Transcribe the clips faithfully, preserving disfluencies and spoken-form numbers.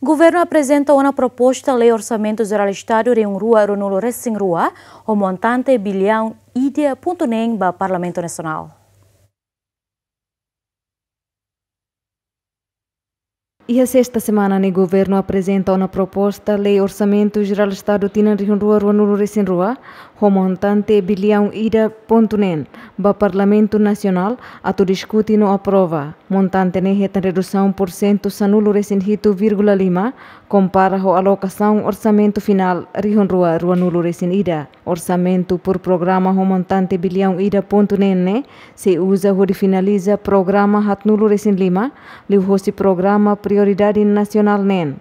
Governu aprezenta ona proposta lei Orsamentu Jerál Estadu rihun rua ruanulu resin rua, ho montante biliaun ida pontu neen ba Parlamentu Nasionál. Iha sesta semana ne'e, Governu aprezenta ona proposta lei Orsamentu Jerál Estadu tinan rihun rua ruanulu resin rua, ho montante biliaun ida pontu neen, ba Parlamentu Nasionál atu diskute no aprova. Montante ne'e hetan redusaun pursentu sanulu resin hitu vírgula lima, kompara ho alokasaun orsamentu finál rihun rua ruanulu resin ida. Orsamentu por programa ho montante biliaun ida pontu neen ne'e sei uza hodi finaliza programa haatnulu resin lima, liuhosi programa prioridade nasionál neen,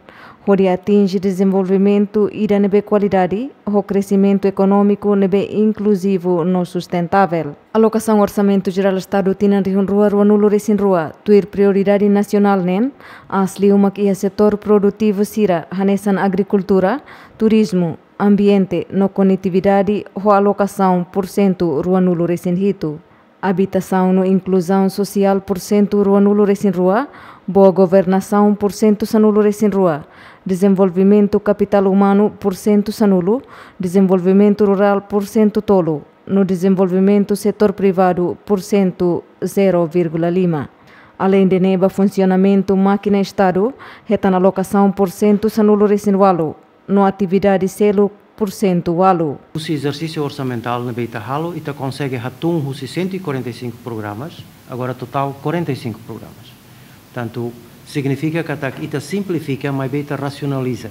hodi atinje dezenvolvimentu ida ne'ebé kualidade, ho kresimentu ekonómiku ne'ebé inkluzivu no sustentável. Alokasaun Orsamentu Jerál Estadu tinan rihun rua ruanulu resin rua, tuir prioridade nasionál neen, aas liu mak iha setór produtivu sira, hanesan agrikultura, turizmu, ambiente no konetividade, ho alokasaun pursentu ruanulu resin hitu. Abitasaun no inkluzaun sosiál pursentu ruanulu resin rua, boa governasaun pursentu sanulu resin rua, dezenvolvimentu kapitál umanu pursentu sanulu, dezenvolvimentu rurál pursentu tolu, no dezenvolvimentu setór privadu pursentu zero vírgula lima. Aleinde ne'e, ba funsionamentu mákina Estadu, hetan alokasaun pursentu sanulu resin ualu, no atividade seluk pursentu ualu. Husi ezersísiu orsamentál ne'ebé ita halo, ita konsege hatún husi cento e quarenta e cinco programas, agora totál quarenta e cinco programas. Portantu, signifika katak ita simplifika, maibé ita rasionaliza.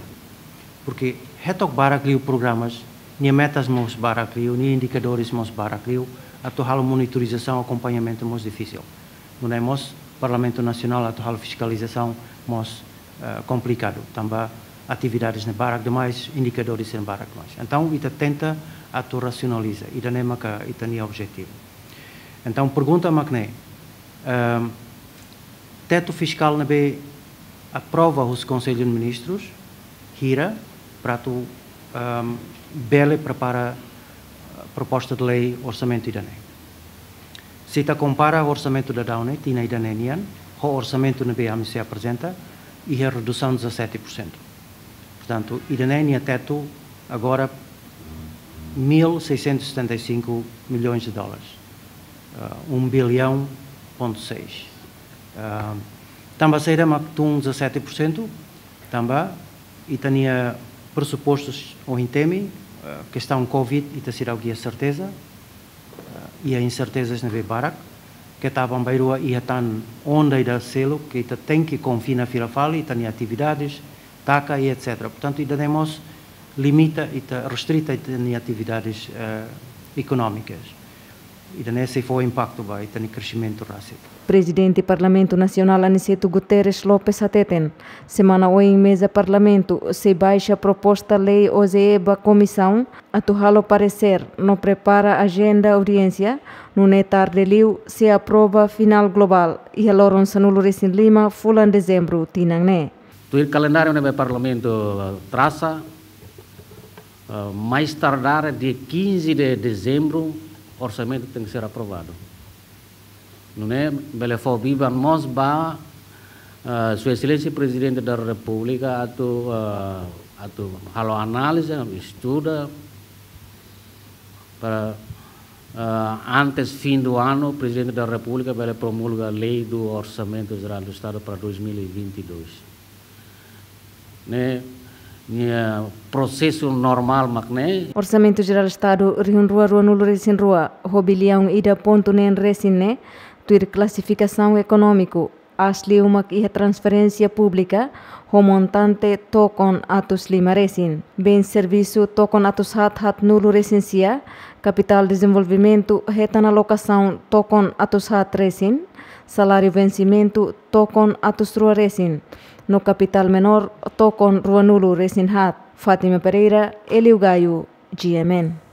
Porque hetok barak liu programas, nia metas mós barak liu, nia indikadores mós barak liu, atu halo monitorizasaun, akompañamentu mós difisil. Nune'e mós Parlamentu Nasionál atu halo fiskalizasaun mós, eh, komplikadu. Tanba atividades ne'e barak demais, indikadores ne'e barak demais. Entaun, ita tenta atu rasionaliza, ida-ne'e maka ita-nia objetivu. Entaun, pergunta mak ne'e, ehm, tetu fiskál ne'ebé aprova husi Konsellu de Ministrus, hira, para atu, ehm, bele prepara, eh, proposta de lei orsamentu ida-ne'e. Se ita kompara orsamentu daudaun ne'e, tinan ida-ne'e nian, ho orsamentu ne'ebé ami sei aprezenta, iha redusaun dezassete por cento. Portantu, ida-ne'e nia tetu agora mil seiscentos e setenta e cinco milhões de dólares. Ah, um bilhão ponto seis. Ah, tanba saida mak tun dezassete por cento, tanba ita-nia presupostus ohin temi, ah, kestaun covid, ita seidauk iha serteza, ah, iha insertezas ne'ebé barak, keta aban-bainrua iha tan onda ida seluk, ke ita tenke konfina fila fali, ita-nia atividades, taka i etcétera. Portantu, ida-ne'e mós limita ita, restrita ita-nia atividades, eh, ekonómikas. Ida-ne'e sei fó impaktu ba ita-nia kresimentu rasik. Prezidente Parlamentu Nasionál Aniceto Guterres Lopes hateten, semana oin meza Parlamentu sei baixa proposta lei O J E ba komisaun atu halo paresér no prepara ajenda audiénsia, nune'e tarde liu sei aprova finál globál iha loron sanulu resin lima fulan Dezembru tinan ne'e. Tuir kalendáriu ne'ebé Parlamentu, eh, trasa, eh, mais tardar dia quinze de dezembro, orsamentu tenke ser aprovadu. Nune'e bele fó biban mós ba, eh, Sua Exelénsia Prezidente da Repúblika atu, eh, atu halo análize, estuda, para, eh, antes fim do ano, Prezidente da Repúblika bele promulga lei do Orçamento Geral do Estado para dois mil e vinte e dois. Ne'e, nia prosesu normál mak ne'e. Orsamentu Jerál Estadu rihun rua ruanulu resin rua, ho biliaun ida pontu neen resin ne'e, tuir klasifikasaun ekonómiku, aas liu mak iha transferénsia públika, ho montante tokon atus lima resin. Bens servisu tokon atus haat haatnulu resin sia, kapitál dezenvolvimentu hetan alokasaun tokon atus haat resin, saláriu vensimentu tokon atus rua resin, no kapitál menór tokon ruanulu resin haat. Fátima Pereira, Hélio Gaio, G M N.